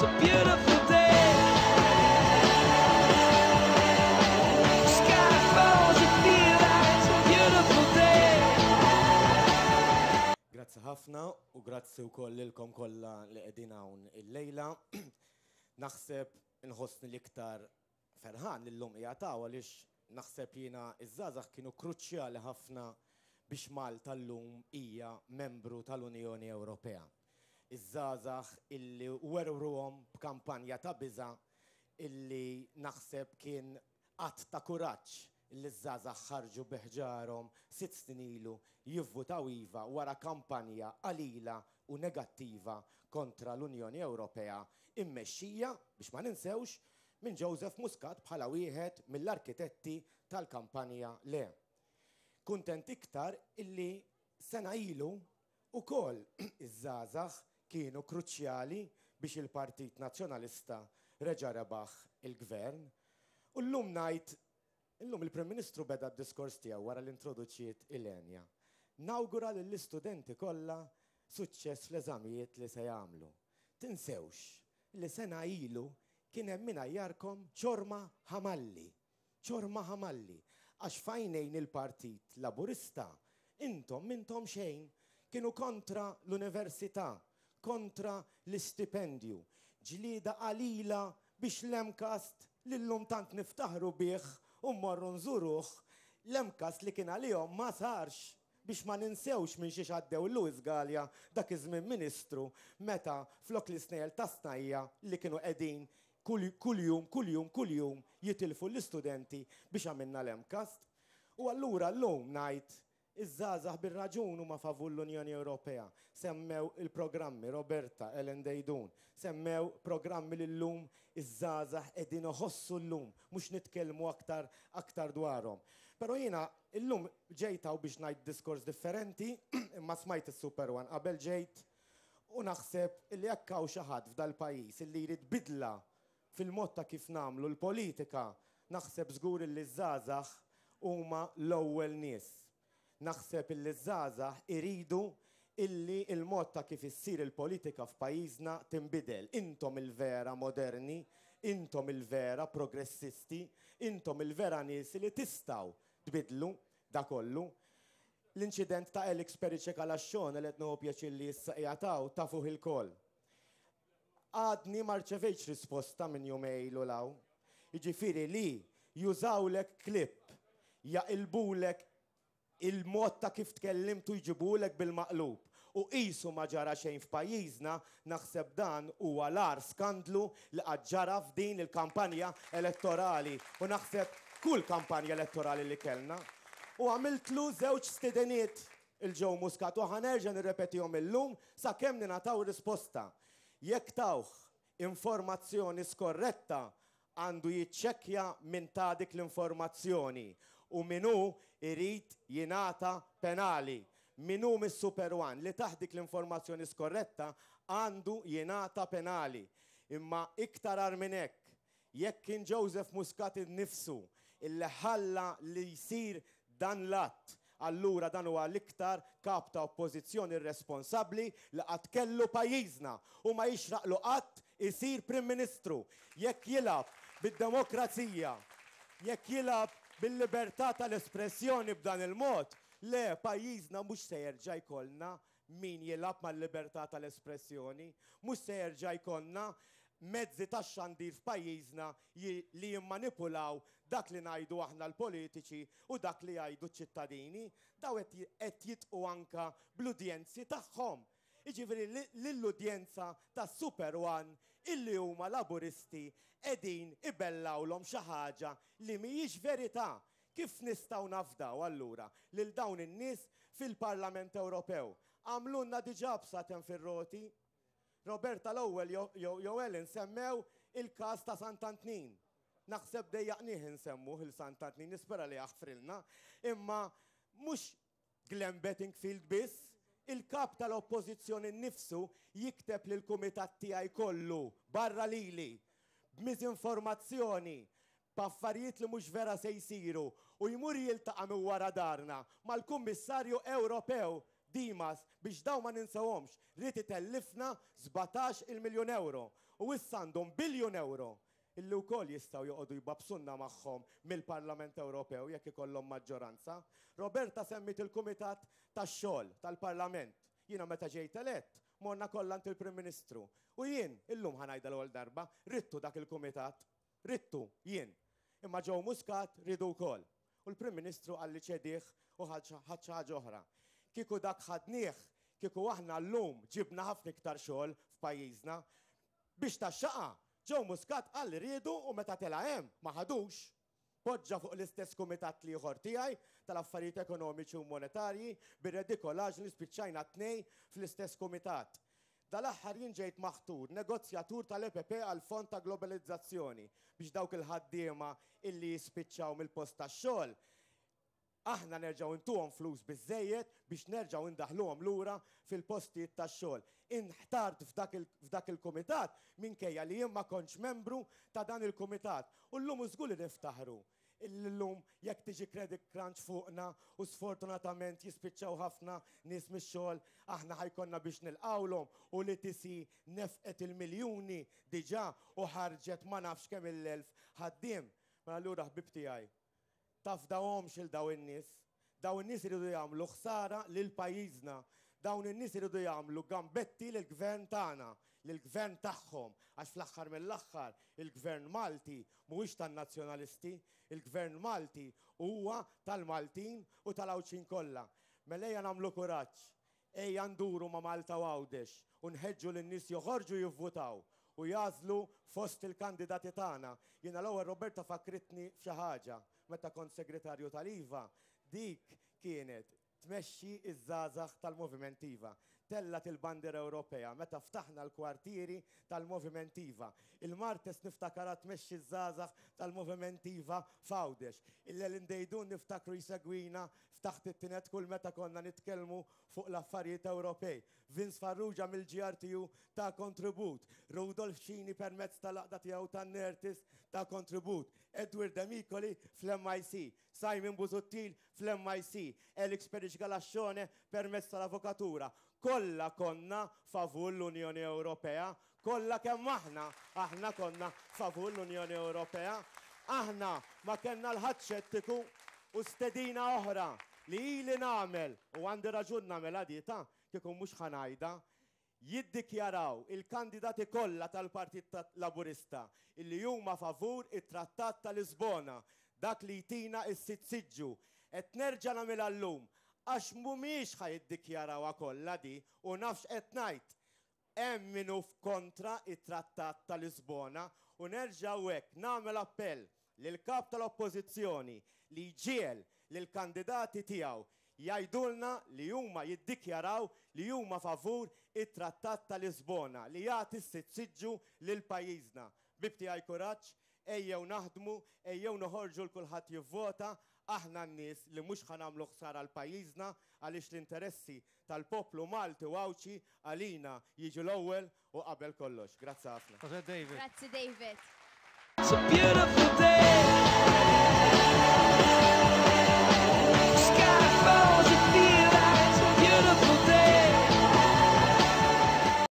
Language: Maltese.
it's a beautiful day. Sky falls, you feel like it's a beautiful day. Grazzi ħafna u grazzi wkoll lilkom kollha li qegħdin hawn illejla. Naħseb inħossni l-iktar ferħan li llum qiegħed hawn għaliex naħseb jiena iż-żgħażagħ kienu kruċjali ħafna biex Malta llum hija membru tal-Unjoni Ewropea. Iż-żgħażagħ illi werwruhom b'kampanja ta' biża' illi naħseb kien att ta' kuraġġ illi ż-żgħażagħ ħarġu bi ħġarhom sitt snin ilu jivvutaw iva wara kampanja qalila u negattiva kontra l-Unjoni Ewropea immexxija, biex ma ninsewx, minn Joseph Muscat bħala wieħed mill-arkitetti tal-kampanja Le. Kuntent iktar illi sena ilu ukoll iż-żgħażagħ kienu kruċjali biex il-Partit Nazzjonalista reġa' rebaħ il-Gvern. U llum ngħid, illum il-Prim Ministru beda d-diskors tiegħu wara li introduċiet Ilenia. Nawgura lill-istudenti kollha suċċess fl-eżamijiet li se jagħmlu. Tinsewx li sena ilu kien hemm min għajjarkom ċorma ħamalli. Ċorma ħamalli. Għax f'għajnejn il-Partit Laburista intom m'intom xejn. Kienu kontra l-università, kontra l-istipendju. Ġlieda qalila biex l-MCAST li llum tant niftaħru bih u mmorru nżuruh, l-MCAST li kien għalihom ma sarx. Biex ma ninsewx minn xiex għaddew Louis Galea dak iż-żmien Ministru meta flok l-isnejel ta' snajja li kienu qegħdin kull kuljum kuljum kuljum jitilfu l-istudenti biex għamilna l-MCAST. U allura llum ngħid iż-żgħażagħ bir-raġun huma favur l-Unjoni Ewropea. Semmew il-programmi Roberta, Ellen Deidun, semmew programmi li llum iż-żgħażagħ qegħdin iħossu llum, mhux nitkellmu aktar aktar dwarhom. Però jiena Illum ġejt hawn biex ngħid diskors differenti, imma smajt is-Super One qabel ġejt u naħseb li jekk hawn xi ħadd f'dal-pajjiż illi jrid bidla fil-mod ta' kif nagħmlu l-politika, naħseb żgur illi ż-żgħażagħ huma l-ewwel nies. Naħseb illi ż-żgħażagħ iridu illi l-mod ta' kif issir il-politika f'pajjiżna tinbidel. Intom il-vera moderni, intom il-vera progressisti, intom il-vera nies li tistgħu tbiddlu da kollu. L-inċident ta' Alex Perice Calascione li qed nieħu pjaċir li issa qiegħed hawn tafuh ilkoll. Għadni ma rċevejtx risposta minn jumejn ilu 'l hawn. Jiġifieri li jużawlek clip, jaqilbulek Il-mod ta' kif tkellimt u jġibulek bil-maqlub u qisu ma ġara xejn f'pajjiżna, naħseb dan huwa l-agħar skandlu li qatt ġara f'din il-kampanja elettorali u naħseb kull kampanja elettorali li kellna. U għamiltlu żewġ stediniet 'il Joe Muscat u ħa nerġa' nirrepetihom illum sakemm ningħataw risposta. Jekk tawh informazzjoni skorretta għandu jiċċekkja min ta dik l-informazzjoni u min hu jrid jingħata penali. Min hu mis-Super One li tah dik l-informazzjoni skorretta għandu jingħata penali. Imma iktar agħar minn hekk, jekk kien Joseph Muscat innifsu illi ħalla li jsir dan l-att, allura dan huwa l-iktar Kap ta' Oppożizzjoni irresponsabbli li qatt kellu pajjiżna u ma jixraqlu qatt isir Prim Ministru. Jekk jilgħab bid-demokrazija, jekk jilgħab bil-libertà tal-espressjoni b'dan il-mod, le, pajjiżna mhux se jerġa' jkollna min jilgħab mal-libertà tal-espressjoni, mhux se jerġa' jkollna mezzi tax-xandir f'pajjiżna li jimmanipulaw dak li ngħidu aħna l-politiċi u dak li jgħidu ċ-ċittadini. Dawn qed qed jidqu anke bl-udjenzi tagħhom. Jiġifieri lill-udjenza tas-Super One illi huma Laburisti qegħdin ibellgħulhom xi ħaġa li mhijiex verità. Kif nistgħu nafdaw allura lil dawn in-nies fil-Parlament Ewropew? Għamlulna diġà bsaten fir-roti. Roberta l-ewwel jew Ellen semmew il-każ ta' Sant'Antnin. Naħseb dejjaqnieh insemmuh 'il Sant'Antnin, nispera li jaħfrilna. Imma mhux Glenn Bedingfield biss, il-Kap tal-Oppożizzjoni nnifsu jikteb lill-kumitat tiegħi kollu, barra lili, b'miżinformazzjoni, b'affarijiet li mhux vera se jsiru u jmur jiltaqa' minn wara darna mal-Kummissarju Ewropew Dimas, biex dawn ma ninsewhomx, ried itellifna 17 il miljun ewro. U issa għandhom biljun ewro illi wkoll jistgħu joqogħdu jbabsunna magħhom mill-Parlament Ewropew jekk ikollhom maġġoranza. Roberta semmiet il-Kumitat tax-Xogħol tal-Parlament. Jiena meta ġejt elett, morna kollha għand il-Prim Ministru. U jien, illum ħa ngħidha l-ewwel darba, ridtu dak il-kumitat. Ridtu, jien. Imma Joe Muscat riedu wkoll. U l-Prim Ministru qalli ċedih u ħa xi ħaġa oħra. Kieku dak ħadnih, kieku aħna llum ġibna ħafna iktar xogħol f'pajjiżna. Biex tax-xaqa, Joe Muscat qal li riedu u meta tela' hemm ma ħadux. Poġġa fuq l-istess kumitat l-ieħor tiegħi tal-Affarijiet Ekonomiċi u Monetarji bir-redikolaġni li spiċċajna t-tnejn fl-istess kumitat. Dal-aħħar jien ġejt maħtur negozjatur tal-EPP għall-Fond ta' Globalizzazzjoni biex dawk il-ħaddiema illi jispiċċaw mill-post tax-xogħol aħna nerġgħu ntuhom flus biżżejjed biex nerġgħu ndaħħluhom lura fil-postijiet tax-xogħol. Inħtart f'dak il-kumitat minkejja li jien ma kontx membru ta' dan il-kumitat. U llum żgur li niftaħru illi llum jekk tiġi credit crunch fuqna u sfortunatament jispiċċaw ħafna nies mix-xogħol, aħna ħa jkollna biex nilqgħulhom u l-ETC nefqet il-miljuni diġà u ħarġet ma nafx kemm il-elf ħaddiem. Mela allura ħbieb tiegħi, Tafdahomx 'il dawn in-nies. Dawn in-nies iridu jagħmlu ħsara lil pajjiżna. Dawn in-nies iridu jagħmlu gambetti lill-gvern tagħna, lill-gvern tagħhom, għax fl-aħħar mill-aħħar il-gvern Malti mhuwiex tan-Nazzjonalisti, il-gvern Malti huwa tal-Maltin u tal-Għawdxin kollha. Mela ejja nagħmlu kuraġġ. Ejja nduru ma' Malta u Għawdex u nħeġġu lin-nies joħorġu jivvutaw u jagħżlu fost il-kandidati tagħna. Jiena l-ewwel Roberta fakkritni f'xi ħaġa meta kont segretarju tal-IVA, dik kienet tmexxi ż-żgħażagħ tal-Moviment iva. Tellgħet il-bandiera Ewropea meta ftaħna l-kwartieri tal-Moviment iva. Il-Martes niftakarha tmexxi ż-żgħażagħ tal-Moviment iva f'Għawdex. Il-Ellen Deidun niftakru jsegwina f'taħt it-tined kull meta konna nitkellmu fuq l-affarijiet Ewropej. Vince Farrugia mill-GRTU ta kontribut. Rudolf Cini permezz tal-għaqda tiegħu tan-Nertis ta kontribut. Edward Demicoli fl-MIC. Simon Busuttil fl-MIC. Alex Perici Galascione permezz tal-Avukatura. Kollha konna favur l-Unjoni Ewropea. Kollha kemm aħna, aħna konna favur l-Unjoni Ewropea. Aħna ma kellna 'l ħadd xettiku u stedina oħra li ili nagħmel, u għandi raġun nagħmilha di ta, kieku mhux ħa ngħidha, jiddikjaraw il-kandidati kollha tal-Partit Laburista illi huma favur it-Trattat ta' Lisbona, dak li jtina s-sitt siġġu. Qed nerġa' nagħmilha llum għax mhumiex ħa jiddikjarawha kollha di u naf x'qed ngħid. Hemm min hu kontra t-Trattat ta' Lisbona u nerġa' u hekk nagħmel appell lill-Kap tal-Oppożizzjoni li jġiegħel lill-kandidati tiegħu jgħidulna li huma jiddikjaraw li huma favur it-Trattat ta' Lisbona li jagħti s-sitt siġġu lil pajjiżna. Ħbieb tiegħi kuraġġ, ejjew naħdmu, ejjew noħorġu 'l kulħadd jivvota, aħna n-nies li mhux ħa nagħmlu ħsara 'l pajjiżna għaliex l-interessi tal-poplu Malti u Għawdxi għalina jiġu l-ewwel u qabel kollox. Grazzi ħafna. Grazzi David. Grazzi David.